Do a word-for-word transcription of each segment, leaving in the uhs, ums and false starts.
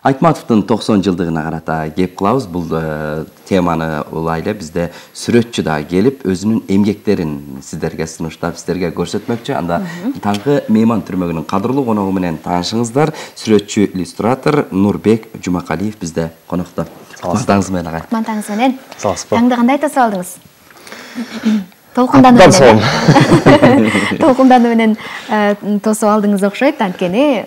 Айтматовдун токсон жылдыгына карата кеп кылабыз. Бул теманы улай эле бизде сүрөтчү да келип, өзүнүн эмгектерин сиздерге сунуштап, сиздерге көрсөтмөкчү. Анда таңкы мейман түрмөгүнүн кадырлуу коногу менен таанышыңыздар. Сүрөтчү, иллюстратор Нурбек Жумакалиев бизде конокто. Мактаңыз менен агай. Мактаңыз менен. Саламатсызбы? Таңды кандай тосуп алдыңыз? Толкундануу менен. Толкундануу менен тосуп алдыңыз окшойт, анткени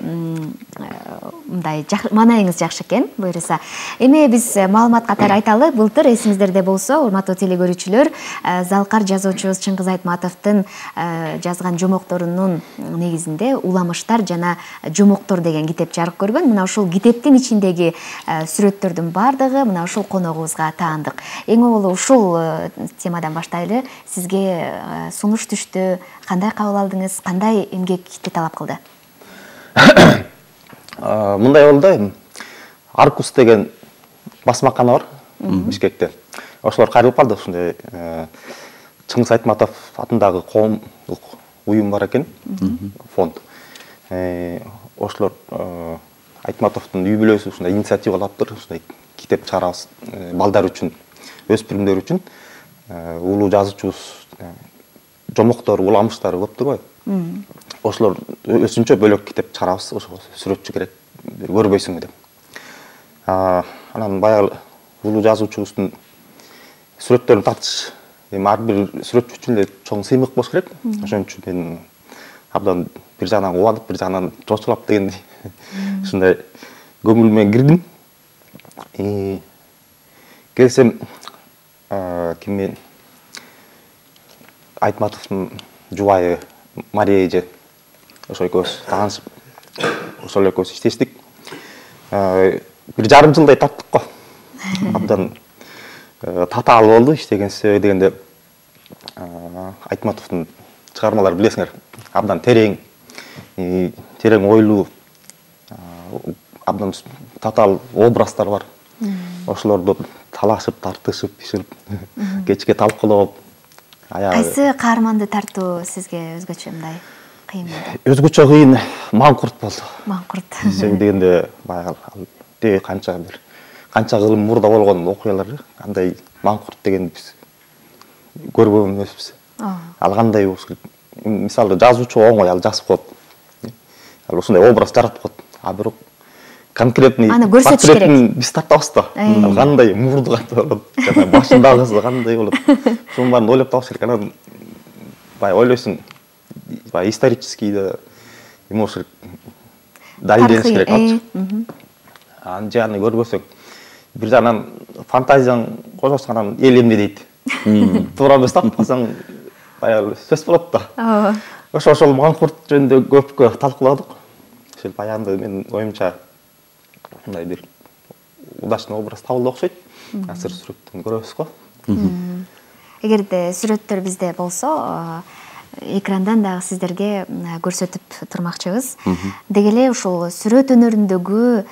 мындай маанайыңыз жакшы экен, буюрса. Эми биз маалымат катары айталы, былтыр эсиңиздерде болсо, урматтуу телекөрүүчүлөр, Залкар жазуучубуз Чыңгыз Айтматовдун жазган жомокторунун негизинде Уламыштар жана жомоктор деген китеп жарык көргөн. Мына ушул китептин ичиндеги сүрөттөрдүн бардыгы мына ушул коногубузга таандык. Эң аввалы ушул темадан баштайлы. Сизге сунуш түштү, кандай кабыл алдыңыз, кандай эмгекти талап кылды? Мындай болду, Аркус деген басмакана бар Бишкекте. Ошолор кайрылып калды, ушундай Чыңгыз Айтматов атындагы коомдук уюм бар экен, фонд. Ошолор Айтматовдун үй бүлөсү ушундай инициатива алыптыр, ушундай китеп чыгарабыз балдар үчүн, өспүрүмдөр үчүн. Улуу жазуучубуз жомоктор, уламыштар көп турбайбы? Ошолор өзүнчө бөлөк китеп чыгарабыз, ошого сүрөтчү керек, көрбөйсүңбү деп. Анан баягы улуу жазуучубуздун сүрөттөрүн тартыш, эми ар бир сүрөтчү үчүн эле чоң сыймык болуш керек. Ошон үчүн мен абдан бир жагынан кубанып, бир жагынан чочулап дегендей ушундай көңүл менен кирдим. Келсем, ким Айтматовдун жубайы Мария эже, ошо экөөбүз таанышып, ошол экөөбүз иштештик. Бир жарым жылдай тарттык го. Абдан татаал болду иштеген себеби дегенде, Айтматовдун чыгармаларын билесиңер, абдан терең, терең ойлуу, абдан татаал образдар бар. Ошолорду талашып, тартышып, биширип, кечке талкуулап, кайсы каарманды тартуу сизге өзгөчө мындай кыйын болду? Өзгөчө кыйын Маңкурт болду. Маңкурт. Себеби дегенде баягы канча бир канча кылым мурда болгон окуялар, андай Маңкурт дегенди биз көрбөгөн эмеспиз. Ал кандай болуш керек? Мисалы жазуучу оңой ал жазып коет. Ал ушундай образ жаратып коет. А бирок конкретный портреттин биз тартабыз да. Ал кандай мурду кандай болот, жана башындагысы кандай болот. Ошонун баарын ойлоп табыш керек. Анан баягы ойлойсуң, баягы исторический да эме болуш керек. Далилдениш керек. Анан жаны көрбөсөң, бир жагынан фантазияң кошосуң, эл эмне дейт. Туура эмес тапып калсаң, баягы сөз болот да. Ошо ошол Маңкурт жөнүндө көпкө талкууладык. Ошол баягында менин оюмча мындай бир удачный образ табылды окшойт. Азыр сүрөттөн көрөбүз го. Эгерде сүрөттөр бизде болсо, экрандан дагы сиздерге көрсөтүп турмакчыбыз. Деги эле ушул сүрөт өнөрүндөгү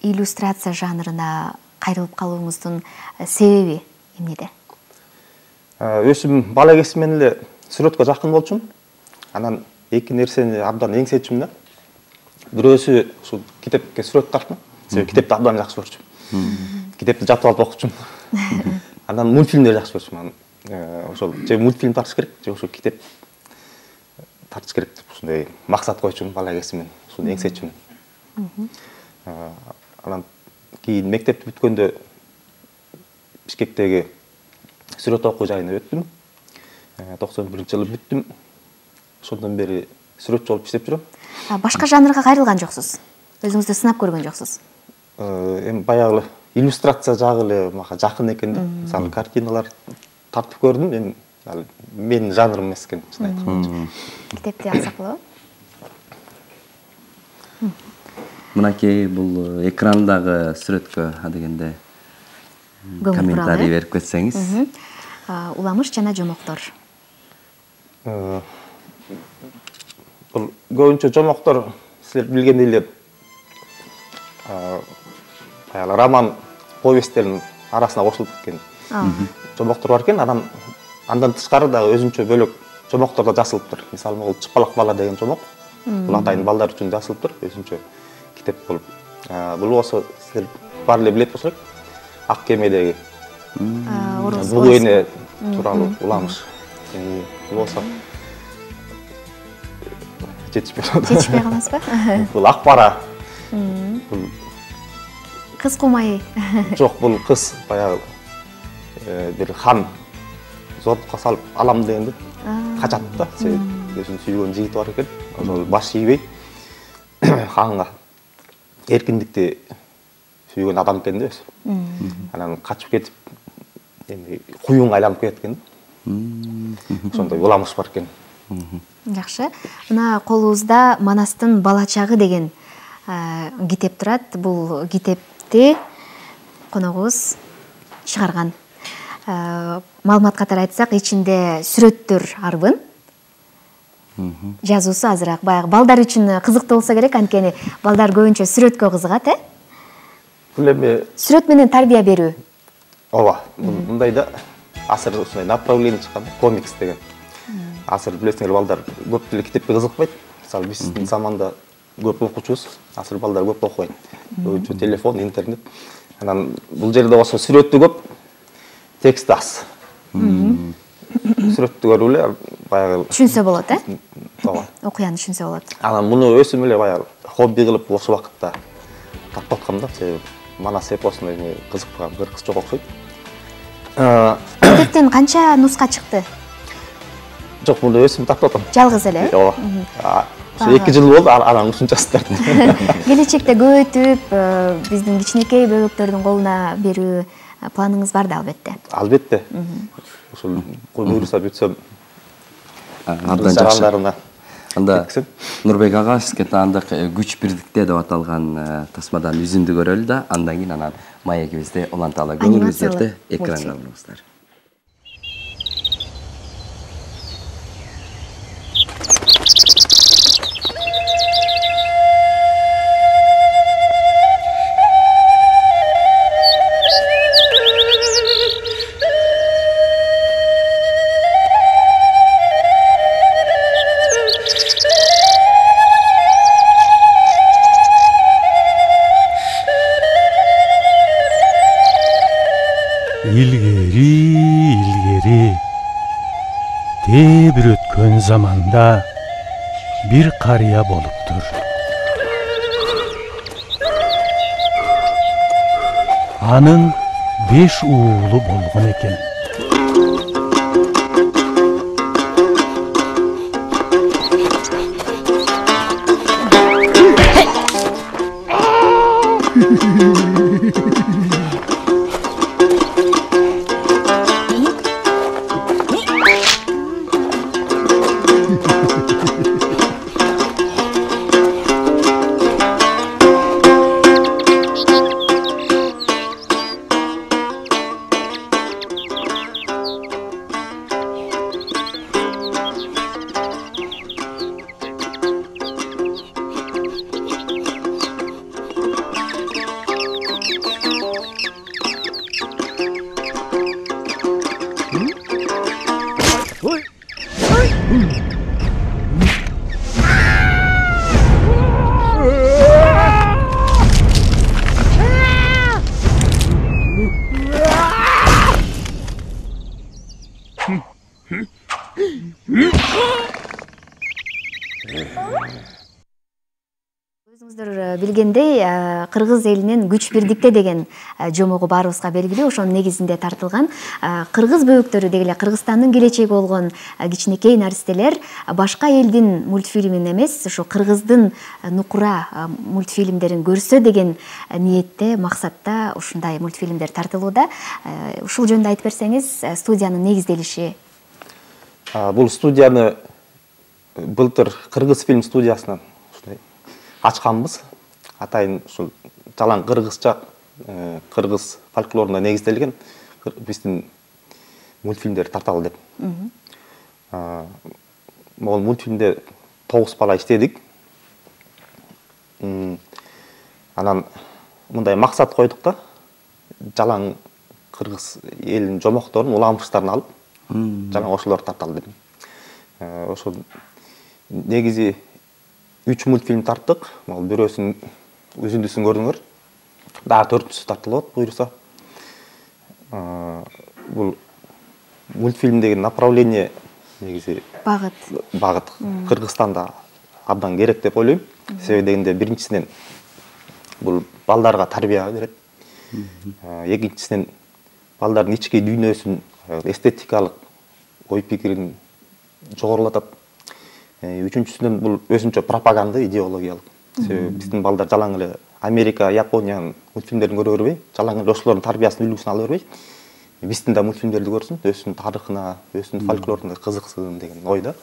иллюстрация жанрына кайрылып калууңуздун себеби эмнеде? Өзүм бала кезимден эле сүрөткө жакын болчумун. Анан эки нерсени абдан эңсечүмүн да. Бирөөсү ушул китепке сүрөт тартмак. Себеби китепти абдан жакшы көрчүмүн. Китепти жатып алып окучумун. Анан мультфильмдерди жакшы көрчүмүн. Ошол же мультфильм тартыш керек, же ошол китеп тартыш керек деп ушундай максат койчумун бала кезимден. Ушуну эңсечүмүн. Анан кийин мектепти бүткөндө Бишкектеги сүрөт окуу жайына өттүм. токсон биринчи жылы бүттүм. Ошондон бери сүрөтчү болуп иштеп жүрөм. Башка жанрга кайрылган жоксуз? Өзүңүздү сынап көргөн жоксуз? Эми баягы иллюстрация жагы эле мага жакын экен да. Мисалы картиналар тартып көрдүм, эми ал менин жанрым эмес экен, чын айтканда. Китепти алсак болобу? Мынакей бул экрандагы сүрөткө адегенде комментарий берип кетсеңиз. Уламыш жана жомоктор. Бул көбүнчө жомоктор силер билгендей эле баягы роман повесттердин арасына кошулуп кеткен жомоктор бар экен. Анан андан тышкары дагы өзүнчө бөлөк жомоктор да жазылыптыр. Мисалы, бул Чыпалак бала деген жомок. Бул атайын балдар үчүн жазылыптыр, өзүнчө китеп болуп. Бул болсо силер баары эле билет болсо Ак кемедеги бул эне тууралуу уламыш. Бул болсо жетишпей калат. Жетишпей каласызбы? Бул ак бара. Бул кыз кумай. Жок, бул кыз баягы бир хан зордукка салып алам дегенде качат да. Өзүнүн сүйгөн жигити бар экен. Ошол баш ийбей ханга эркиндикти сүйгөн адам экен да өзү. Анан качып кетип, эми куюнга айланып кеткен. Ошондой уламыш бар экен. Жакшы. Мына колубузда Манастын бала чагы деген китеп турат. Бул китепти коногубуз чыгарган. Маалымат катары айтсак, ичинде сүрөттөр арбын. Жазуусу азыраак баягы балдар үчүн кызыктуу болсо керек, анткени балдар көбүнчө сүрөткө кызыгат, э? Бул эми сүрөт менен тарбия берүү. Ооба, мындай да азыр ушундай направление чыккан, комикс деген. Азыр билесиңер, балдар көп деле китепке кызыкпайт. Мисалы биздин заманда көп окуучубуз, азыр балдар көп окубайт. Көбүнчө телефон, интернет. Анан бул жерде болсо сүрөттү көп, тексти аз. Сүрөттү көрүп эле баягы түшүнсө болот, э? Ооба. Окуяны түшүнсө болот. Анан муну өсүм эле баягы хобби кылып бош убакытта тартып аткам да, себеби Манас эпосуна эми кызыкпаган бир кыз жок окшойт. Китептен канча нуска чыкты? Жок, муну өсүм тартып атам. Жалгыз эле? Ооба. эки жыл болду, анан ушунчасы тарттым. Келечекте көбөйтүп, биздин кичинекей бөбөктөрдүн колуна берүү планыңыз бар да, албетте. Албетте. Ошол буйруса бүтсөм, абдан жакшы. Анда Нурбек ага сизге таандык күч бирдикте деп аталган тасмадан үзүндү көрөлү да, андан кийин анан маегибизди уланталы. Көңүлүңүздөрдү экранга алыңыздар. Илгери, илгери, тээ бир өткөн заманда бир карыя болуптур. Анын беш уулу болгон экен. Өзүңүздөр билгендей, кыргыз элинин күч бирдикте деген жомогу баарыбызга белгилүү. Ошонун негизинде тартылган кыргыз бөбөктөрү дегеле Кыргызстандын келечеги болгон кичинекей наристелер башка элдин мультфильмин эмес, ошо кыргыздын нукура мультфильмдерин көрсө деген ниетте, максатта ушундай мультфильмдер тартылууда. Ушул жөнүндө айтып берсеңиз, студиянын негизделиши? Бул студияны былтыр Кыргыз фильм студиясынан ачканбыз. Атайын ушул жалаң кыргызча, кыргыз фольклоруна негизделген биздин мультфильмдер тарталы деп. Могул мультфильмде тогуз бала иштедик. Анан мындай максат койдук да, жалаң кыргыз элинин жомокторун, уламыштарын алып, жалаң ошолорду тарталы деп. Ошол негизи үч мультфильм тарттык. Бирөөсүн үзүндүсүн көрдүңөр. Дагы төртүнчүсү тартылып атат буюрса. Бул мультфильмдеги направление негизи багыт. Багыт Кыргызстанда абдан керек деп ойлойм. Себеби дегенде биринчисинен бул балдарга тарбия берет. Экинчисинен балдардын ички дүйнөсүн, эстетикалык ой пикирин жогорулатат. Үчүнчүсүнөн бул өзүнчө пропаганда идеологиялык. Себеби биздин балдар жалаң эле Америка, Япониянын мультфильмдерин көрө бербей, жалаң эле ошолордун тарбиясын, үлгүсүн ала бербей, биздин да мультфильмдерди көрсүн, өзүнүн тарыхына, өзүнүн фольклоруна кызыксын деген ойда.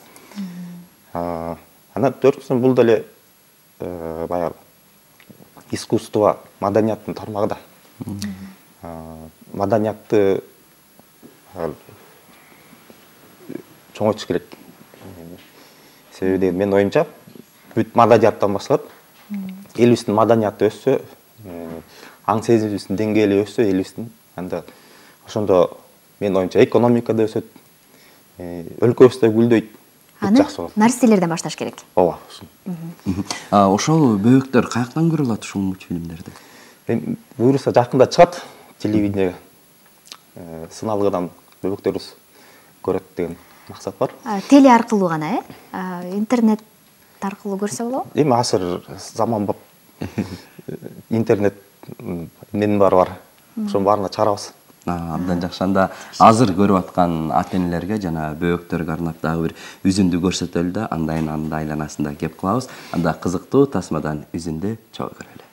Анан төртүнчүсүнөн бул деле баягы искусство, маданияттын тармагы да. Маданиятты чоңойтуш керек. Себеби менин оюмча, бүт маданияттан башталат. Элибиздин маданияты өссө, аң сезимибиздин деңгээли өссө, элибиздин анда ошондо менин оюмча экономика да өсөт, өлкөбүз да гүлдөйт. Аны нарселерден башташ керек. Ооба. Ошол бөөктөр каяктан көрүлүп атат ушул мультфильмдерди? Буюрса жакында чыгат телевидениеге. Сыналгыдан бөөктөрүбүз көрөт деген максат бар. Теле аркылуу гана, э? Интернет аркылуу көрсө болобу? Эми азыр заманбап интернет эмненин баары бар. Ошонун баарына чыгарабыз. Абдан жакшы. Анда азыр көрүп аткан ата-энелерге жана бөөктөргө арнап дагы бир үзүндү көрсөтөлү да, андайын анда айланасында кеп кылабыз. Анда кызыктуу тасмадан үзүндү чогуу көрөлү.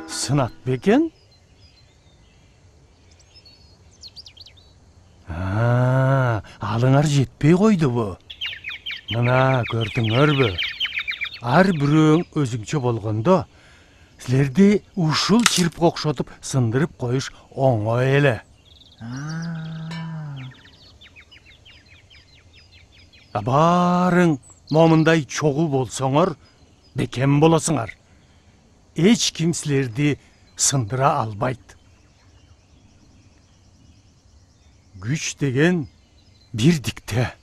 Сынат бекен? Алыңар жетпей койду бу. Мына көрдүңөрбү? Ар бирөөң өзүңчө болгондо, силерди ушул чирпке окшотуп сындырып коюш оңой эле. Барың момундай чогуу болсоңор, бекен болосуңар. Эч ким силерди сындыра албайт. Күч деген бирдикте.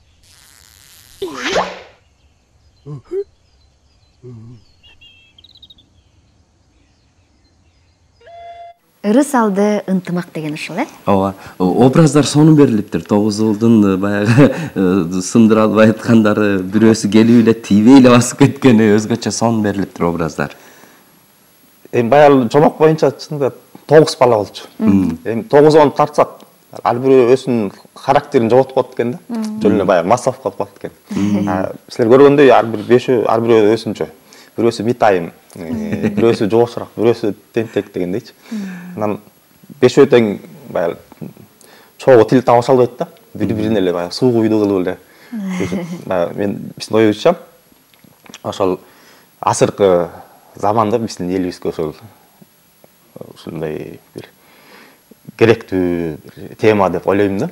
Ырыс алды ынтымак деген ушул, э? Ооба. Образдар сонун берилиптир. Тогуз уулдун баягы сындыра албай аткандары, бирөөсү келип эле тийбей эле басып кеткени, өзгөчө сонун берилиптир образдар. Эми баягы жомок боюнча чынында тогуз бала болчу. Эми тогузун тартсак, ар бирөө өзүнүн характерин жоготуп калат экен да. Жөн эле баягы массав калып калат экен. Силер көргөндөй ар бир бешөө, ар бирөө өзүнчө. Бирөөсү митайым, бирөөсү жошураак, бирөөсү тентек дегендейчи. Анан бешөө тең баягы чогуу тил табыша албайт да. Бири-бирине эле баягы суу куйду кылып эле. Мен биздин оюбузча ошол азыркы заманда биздин элибизге ошол ушундай бир керектүү тема деп ойлойм да.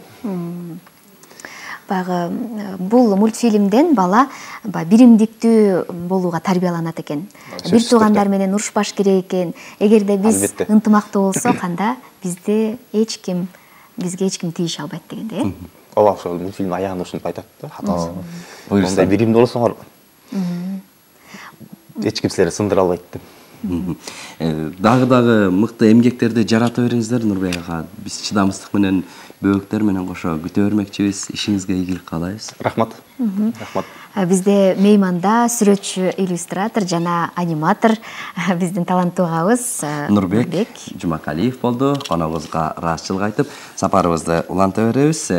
Баягы бул мультфильмден бала биримдиктүү болууга тарбияланат экен. Бир туугандар менен урушпаш керек экен. Эгерде биз ынтымактуу болсок, анда бизди эч ким, бизге эч ким тийише албайт дегенде, э? Ооба, ошол мультфильм аягында ушинтип айтат да. Мындай биримдүү болсоңор, эч ким силерди сындыра албайт деп. Дагы-дагы мыкты эмгектерди жарата бериңиздер Нурбек ага. Биз чыдамсыздык менен бөөктөр менен кошо күтө бермекчибиз. Ишиңизге ийгилик каалайбыз. Рахмат. Рахмат. Бизде мейманда сүрөтчү, иллюстратор жана аниматор биздин таланттуу агабыз Нурбек Жумакалиев болду. Коногубузга ыраазычылык айтып, сапарыбызды уланта беребиз.